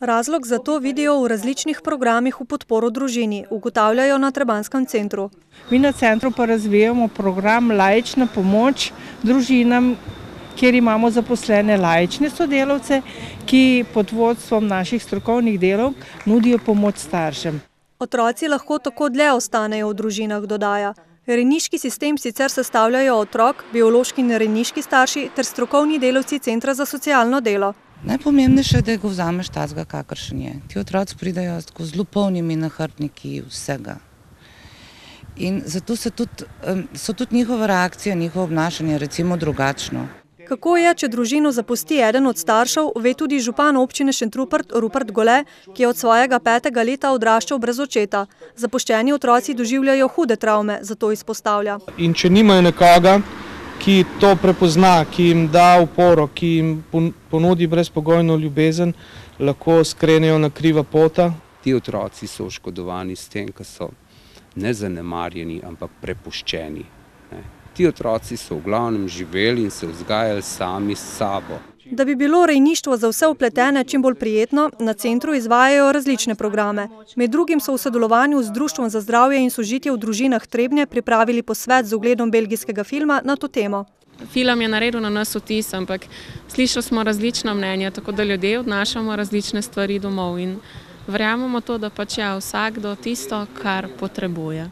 Razlog za to vidijo v različnih programih v podporo družini, ugotavljajo na Trebanjskem centru. Mi na centru pa razvijamo program Laična pomoč družinam, kjer imamo zaposlene laične sodelavce, ki pod vodstvom naših strokovnih delavk nudijo pomoč staršem. Otroci lahko tako dlje ostanejo v družinah, dodaja. Rejniški sistem sicer sestavljajo otrok, biološki in rejniški starši ter strokovni delavci Centra za socialno delo. Najpomembnejše je, da ga vzameš takega, kakršen je. Ti otroci pridejo tako zelo polnimi nahrbtniki vsega. In zato so tudi njihove reakcije, njihovo obnašanje recimo drugačno. Kako je, če družino zapusti eden od staršev, ve tudi župan občine Šentrupert Rupert Gole, ki je od svojega 5. leta odraščal brez očeta. Zapuščeni otroci doživljajo hude travme, zato izpostavlja. In če nimajo nekoga, ki to prepozna, ki jim da oporo, ki jim ponudi brezpogojno ljubezen, lahko skrenejo na kriva pota. Ti otroci so oškodovani s tem, ker so ne zanemarjeni, ampak prepuščeni. Ti otroci so v glavnem živeli in se vzgajali sami s sabo. Da bi bilo rejništvo za vse vpletene čim bolj prijetno, na centru izvajajo različne programe. Med drugim so v sodelovanju z Društvom za zdravje in sožitje v družinah Trebnje pripravili posvet z ogledom belgijskega filma na to temo. Film je naredil na nas vtis, ampak slišali smo različna mnenja, tako da ljudje odnašamo različne stvari domov in verjamemo to, da pač je vsakdo tisto, kar potrebuje.